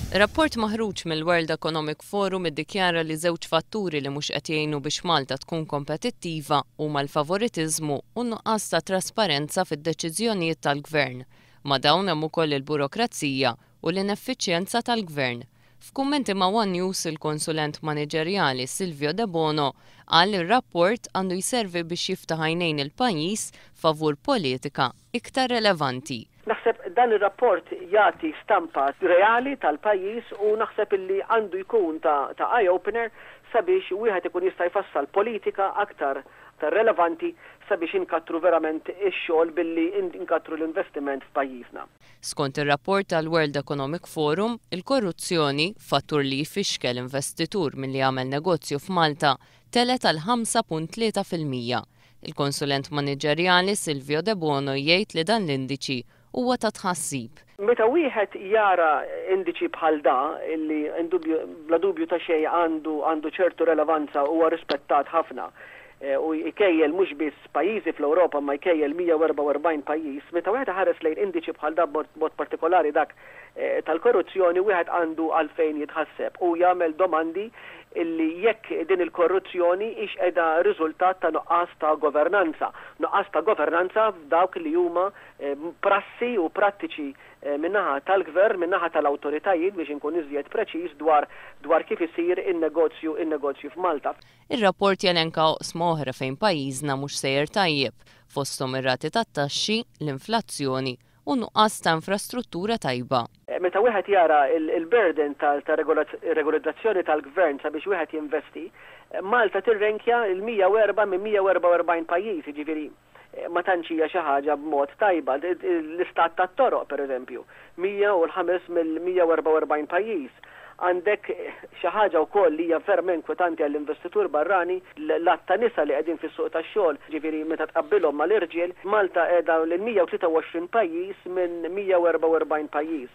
Rapport maħruġ mill-World Economic Forum iddikjara li żewġ fatturi li mhux qed jgħinu biex Malta tkun kompetittiva huma l-favoritiżmu u n-nuqqas ta' trasparenza fid-deċiżjonijiet tal-Gvern. Ma' dawn hemm ukoll il-burokrazija u l-ineffiċjenza tal-Gvern. F'kummenti ma' one News il-konsulent maniġerjali Silvio Debono qal li r-rapport għandu jservi biex jiftaħ għajnejn il-pajjiż favur politika iktar relevanti. Naħseb dan ir-rapport jagħti stampa reali tal-pajjiż u naħseb illi għandu jkun ta' ta' eye-opener sabiex wieħed ikun jista' jfassal politika aktar relevanti sabiex inkattru verament ix-xogħol billi nkattru l-investiment f'pajjiżna. Skont ir-rapport tal-World Economic Forum, il-korruzzjoni, fattur li jfixkel investitur milli jagħmel negozju f'Malta, telgħet għal 5.3%. Il-konsulent maniġerjali Silvio Debono jgħid li dan l-indiċi huwa ta' tħassib. Meta wieħed jara indiċi bħal da, illi bla dubju ta' xejn għandu ċertu relevanza, huwa rispettat ħafna u jkejjel mhux biss pajjiżi fl-Ewropa ma jkejjel 144 pajjiż, meta wieħed ħares lejn indiċi bħal da, b'mod partikolari dak tal-korruzzjoni, wieħed għandu għalfejn jitħasseb u jagħmel domandi illi jekk din il-korruzzjoni hix qiegħda riżultat ta' nuqqas ta' governanza. Nuqqas ta' governanza f'dawk li huma prassi u prattiċi min-naħa tal-gvern, min-naħa tal-awtoritajiet, biex inkun iżjed preċiż, dwar kif isir in-negozju f'Malta. Ir-rapport jelenka oqsma oħra fejn pajjiżna mhux sejjer tajjeb, fosthom ir-rati tat-taxxi, l-inflazzjoni u nuqqas ta' infrastruttura tajba. Meta wieħed jara il-burden ta' regolizzazzjoni tal-gvern sabiex wieħed jinvesti, Malta tirrenkja il-104 minn 144 pajjiż, jiġifieri ma tantx hija xi ħaġa b'mod tajba. L-istat tat-toroq, pereżempju, 105 mill-144 pajjiż. Għandek xi ħaġa wkoll li hija verament inkwetanti għall-investitur barrani, l-għadd ta' nisa li qegħdin fis-suq tax-xogħol, ġifieri meta tqabbilhom mal-irġiel, Malta qiegħda l-123 pajjiż minn 144 pajjiż.